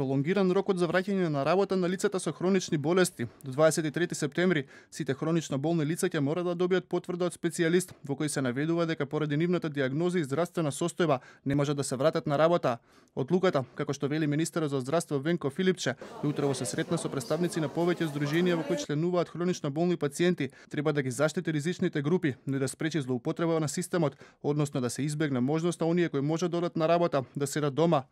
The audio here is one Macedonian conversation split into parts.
Пролонгиран рокот за враќање на работа на лицата со хронични болести. До 23 септември сите хронично болни лица ќе мора да добијат потврда од специјалист во кој се наведува дека поради нивната дијагноза и здравствена состојба не може да се вратат на работа. Одлуката, како што вели министерот за здравство Венко Филипче, утрово се сретна со представници на повеќе здруженија во кои членуваат хронично болни пациенти, треба да ги заштити ризичните групи, но и да спречи злоупотреба на системот, односно да се избегне можноста оние кои може да одат на работа да седат дома.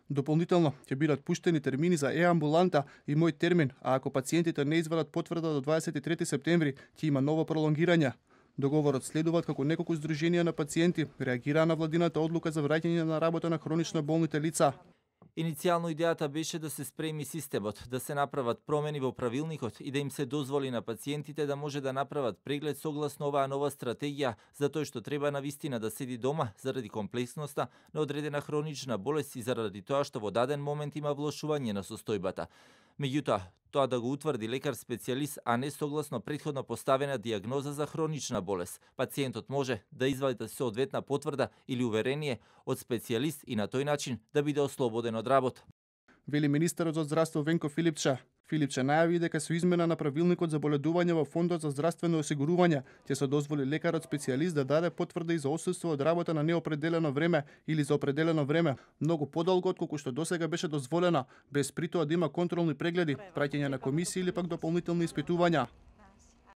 Дополнително ќе бидат пуштени термини за е-амбуланта и мој термин, а ако пациентите не извадат потврда до 23 септември, ќе има ново пролонгирање. Договорот следуваат како неколку здруженија на пациенти реагираа на владината одлука за враќање на работа на хронично болните лица. Иницијално идејата беше да се спреми системот, да се направат промени во правилникот и да им се дозволи на пациентите да може да направат преглед согласно оваа нова стратегија за тоа што треба навистина да седи дома заради комплексноста на одредена хронична болест и заради тоа што во даден момент има влошување на состојбата. Меѓутоа, тоа да го утврди лекар-специјалист, а не согласно претходно поставена дијагноза за хронична болест. Пациентот може да извади соодветна потврда или уверение од специјалист и на тој начин да биде ослободен од работа. Вели министерот за здравство Венко Филипче. Филипче најави дека со измена на правилникот за боледување во фондот за здравствено осигурување ќе се дозволи лекарот специјалист да даде потврда и за отсуство од работа на неопределено време или за определено време, многу подолго отколку што досега беше дозволено, без при тоа да има контролни прегледи, праќање на комисии или пак дополнителни испитувања.